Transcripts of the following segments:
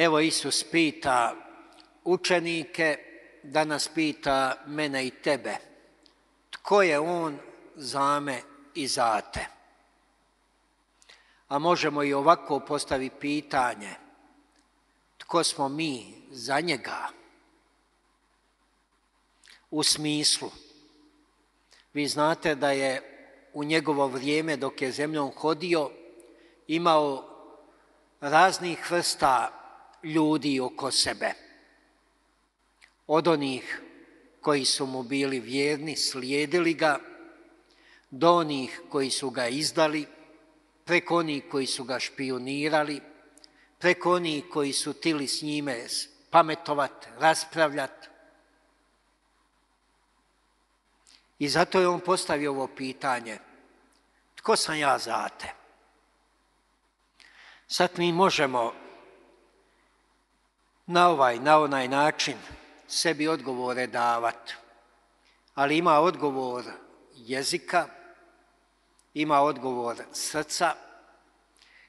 Evo Isus pita učenike, danas pita mene i tebe. Tko je on za me i za te? A možemo i ovako postaviti pitanje. Tko smo mi za njega? U smislu, vi znate da je u njegovo vrijeme dok je zemljom hodio imao raznih vrsta ljudi oko sebe. Od onih koji su mu bili vjerni, slijedili ga, do onih koji su ga izdali, preko onih koji su ga špijunirali, preko onih koji su htjeli s njime pametovati, raspravljati. I zato je on postavio ovo pitanje. Tko sam ja za te? Sad mi možemo na onaj način sebi odgovore davati. Ali ima odgovor jezika, ima odgovor srca,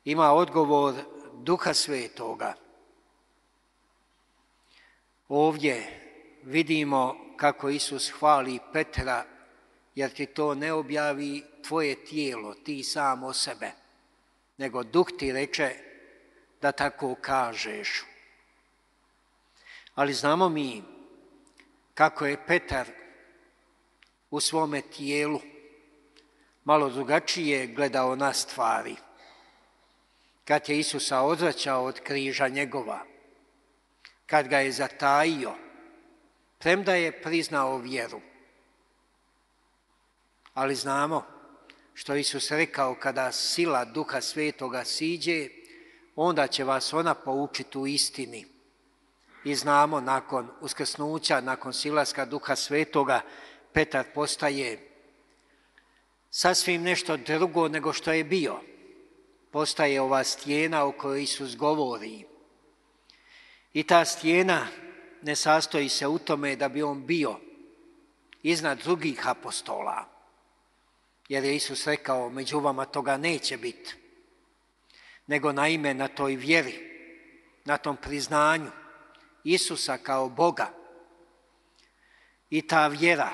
ima odgovor Duha Svetoga. Ovdje vidimo kako Isus hvali Petra, jer ti to ne objavi tvoje tijelo, ti sam o sebe, nego Duh ti reče da tako kažeš. Ali znamo mi kako je Petar u svome tijelu malo drugačije gledao na stvari. Kad je Isusa odvraćao od križa njegova, kad ga je zatajio, premda je priznao vjeru. Ali znamo što Isus rekao, kada sila Duha Svetoga siđe, onda će vas ona poučiti u istini. I znamo nakon uskrsnuća, nakon silaska Duha Svetoga, Petar postaje sasvim nešto drugo nego što je bio. Postaje ova stijena o kojoj Isus govori. I ta stijena ne sastoji se u tome da bi on bio iznad drugih apostola. Jer je Isus rekao, među vama toga neće biti. Nego naime na toj vjeri, na tom priznanju Isusa kao Boga. I ta vjera,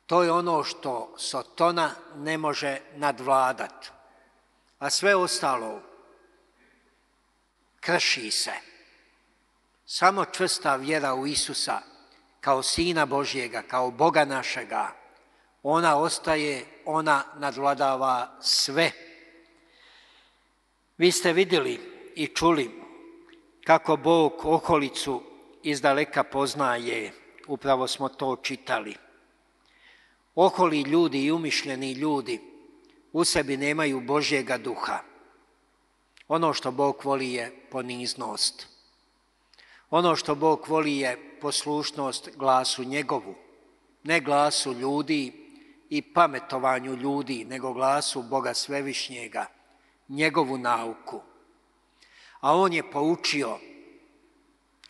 to je ono što Sotona ne može nadvladati. A sve ostalo krši se. Samo čvrsta vjera u Isusa kao Sina Božjega, kao Boga našega, ona ostaje, ona nadvladava sve. Vi ste vidjeli i čuli kako Bog okolicu izdaleka poznaje, upravo smo to čitali. Oholi ljudi i umišljeni ljudi u sebi nemaju Božjega duha. Ono što Bog voli je poniznost. Ono što Bog voli je poslušnost glasu njegovu, ne glasu ljudi i pametovanju ljudi, nego glasu Boga Svevišnjega, njegovu nauku. A on je poučio,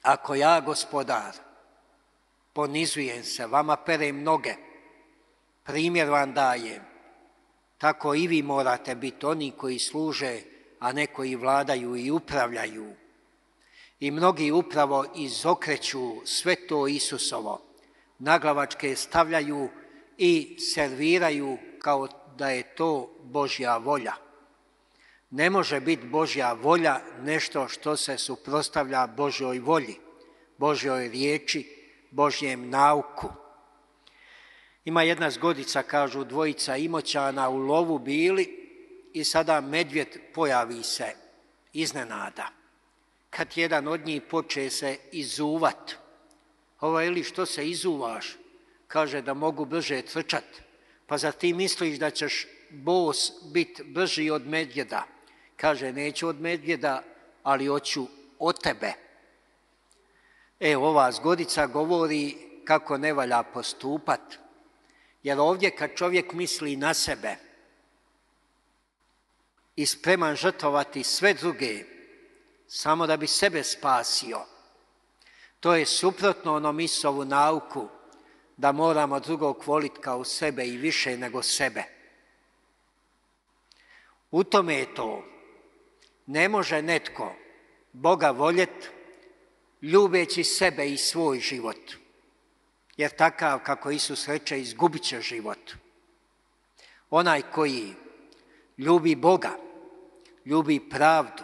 ako ja, Gospodar, ponizujem se, vama perem noge, primjer vam dajem, tako i vi morate biti oni koji služe, a ne koji vladaju i upravljaju. I mnogi upravo izokreću sve to Isusovo, naglavačke stavljaju i serviraju kao da je to Božja volja. Ne može biti Božja volja nešto što se suprotstavlja Božjoj volji, Božjoj riječi, Božjem nauku. Ima jedna zgodica, kažu dvojica Imoćana u lovu bili i sada medvjed pojavi se iznenada. Kad jedan od njih poče se izuvat, ili što se izuvaš? Kaže da mogu brže trčat. Pa zar ti misliš da ćeš bos biti brži od medvjeda? Kaže, neću od medvjeda, ali hoću od tebe. Ova zgodica govori kako ne valja postupat. Jer ovdje kad čovjek misli na sebe i spreman žrtvovati sve druge, samo da bi sebe spasio, to je suprotno onom Isusovu nauku da moramo drugog voliti kao sebe i više nego sebe. U tome je to. Ne može netko Boga voljet, ljubeći sebe i svoj život. Jer takav, kako Isus reče, izgubit će život. Onaj koji ljubi Boga, ljubi pravdu,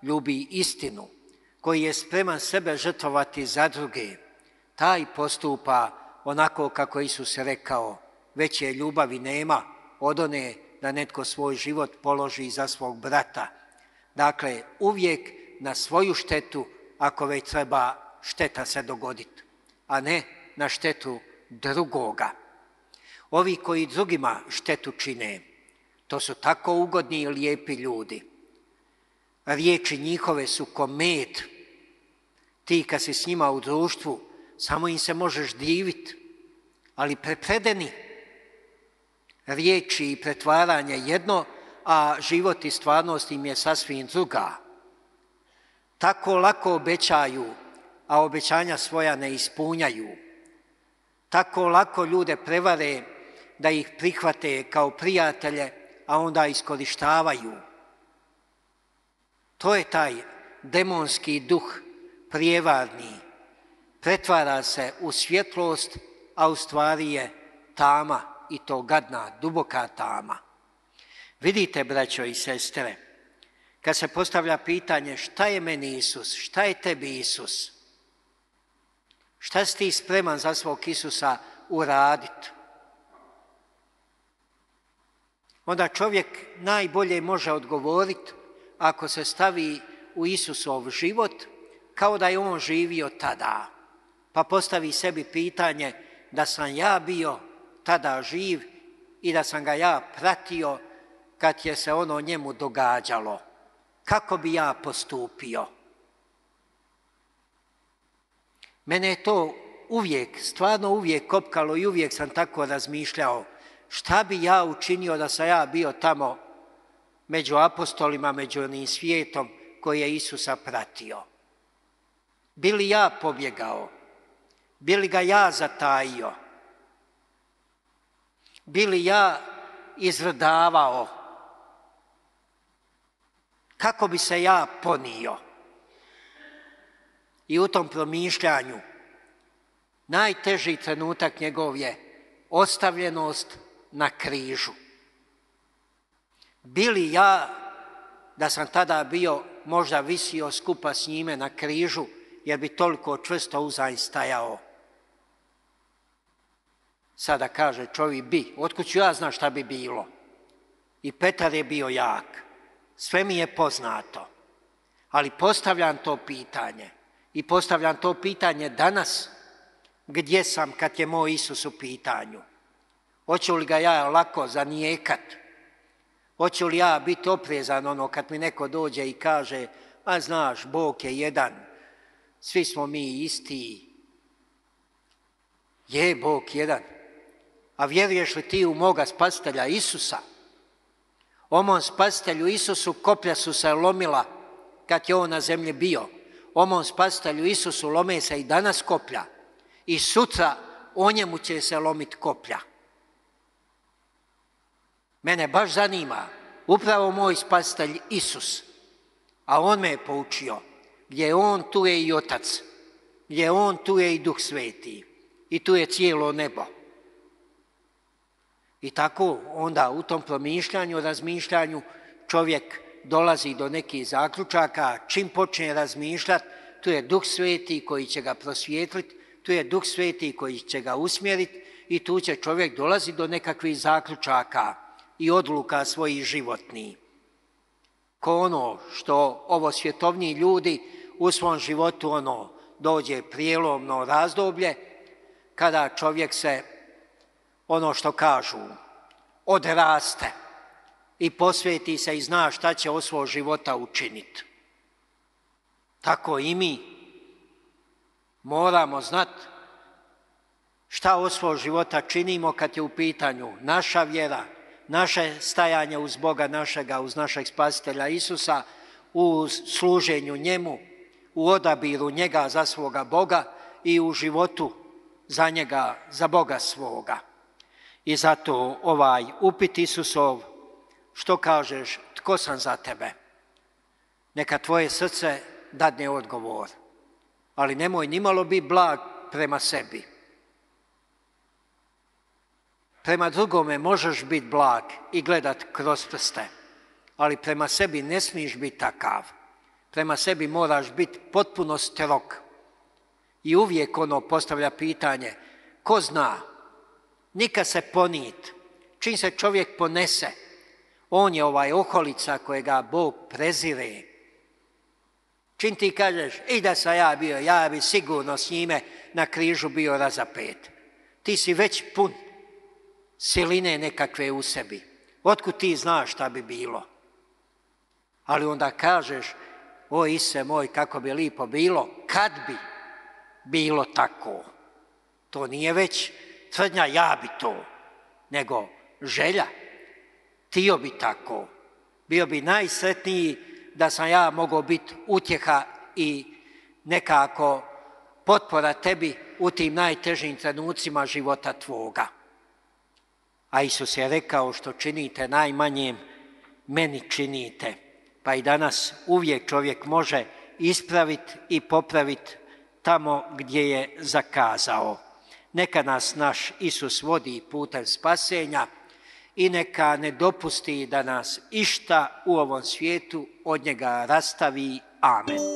ljubi istinu, koji je spreman sebe žrtvovati za druge, taj postupa onako kako Isus rekao, veće ljubavi nema od one da netko svoj život položi za svog brata. Dakle, uvijek na svoju štetu, ako već treba šteta se dogoditi, a ne na štetu drugoga. Ovi koji drugima štetu čine, to su tako ugodni i lijepi ljudi. Riječi njihove su ko med. Ti kad si s njima u društvu, samo im se možeš diviti, ali prepredeni. Riječi i pretvaranje jedno, a život i stvarnost im je sasvim druga. Tako lako obećaju, a obećanja svoja ne ispunjaju. Tako lako ljude prevare da ih prihvate kao prijatelje, a onda iskorištavaju. To je taj demonski duh prijevarni. Pretvara se u svjetlost, a u stvari je tama, i to gadna, duboka tama. Vidite, braćo i sestre, kad se postavlja pitanje šta je meni Isus, šta je tebi Isus, šta si ti spreman za svog Isusa uraditi, onda čovjek najbolje može odgovoriti ako se stavi u Isusov život kao da je on živio tada, pa postavi sebi pitanje da sam ja bio tada živ i da sam ga ja pratio kad je se ono njemu događalo. Kako bi ja postupio? Mene je to uvijek, stvarno uvijek kopkalo i uvijek sam tako razmišljao. Šta bi ja učinio da sam ja bio tamo među apostolima, među onim svijetom koji je Isusa pratio? Bi li ja pobjegao? Bi li ga ja zatajio? Bi li ja izvrdavao? Kako bi se ja ponio? I u tom promišljanju najteži trenutak njegov je ostavljenost na križu. Bi li ja, da sam tada bio, možda visio skupa s njime na križu, jer bi toliko čvrsto uzaň stajao? Sada kaže čovjek bi, otkud ću ja znam šta bi bilo? I Petar je bio jak, sve mi je poznato, ali postavljam to pitanje i postavljam to pitanje danas, gdje sam kad je moj Isus u pitanju? Hoću li ga ja lako zanijekat? Hoću li ja biti oprezan ono kad mi neko dođe i kaže, a znaš, Bog je jedan, svi smo mi isti. Je Bog jedan. A vjeruješ li ti u moga spasitelja Isusa? O mom spasitelju Isusu koplja su se lomila kad je on na zemlji bio. O mom spasitelju Isusu lome se i danas koplja. I sutra o njemu će se lomiti koplja. Mene baš zanima upravo moj spasitelj Isus. A on me je poučio. Gdje je on, tu je i Otac. Gdje je on, tu je i Duh Sveti. I tu je cijelo nebo. I tako onda u tom promišljanju, razmišljanju čovjek dolazi do nekih zaključaka. Čim počne razmišljati, tu je Duh Sveti koji će ga prosvijetliti, tu je Duh Sveti koji će ga usmjeriti i tu će čovjek dolazi do nekakvih zaključaka i odluka svojih životnih. Ko ono što ovo svjetovni ljudi u svom životu dođe prijelomno razdoblje kada čovjek se, ono što kažu, odraste i posveti se i zna šta će od svog života učiniti. Tako i mi moramo znati šta od svog života činimo kad je u pitanju naša vjera, naše stajanje uz Boga našega, uz našeg spasitelja Isusa, u služenju njemu, u odabiru njega za svoga Boga i u životu za njega, za Boga svoga. I zato ovaj upit Isusov, što kažeš, tko sam za tebe? Neka tvoje srce dadne odgovor. Ali nemoj nimalo biti blag prema sebi. Prema drugome možeš biti blag i gledat kroz prste, ali prema sebi ne smiješ biti takav. Prema sebi moraš biti potpuno strog. I uvijek ono postavlja pitanje, ko zna, nikad se ponit, čim se čovjek ponese, on je ovaj oholica kojega Bog prezire. Čim ti kažeš, i da sam ja bio, ja bi sigurno s njime na križu bio razapet. Ti si već pun siline nekakve u sebi. Otkud ti znaš šta bi bilo? Ali onda kažeš, o Ise moj, kako bi lipo bilo, kad bi bilo tako. To nije već tvrdnja ja bi to, nego želja. Tio bi tako. Bio bi najsretniji da sam ja mogao biti utjeha i nekako potpora tebi u tim najtežim trenucima života tvoga. A Isus je rekao, što činite najmanjem, meni činite. Pa i danas uvijek čovjek može ispraviti i popraviti tamo gdje je zakazao. Neka nas naš Isus vodi putem spasenja i neka ne dopusti da nas išta u ovom svijetu od njega rastavi. Amen.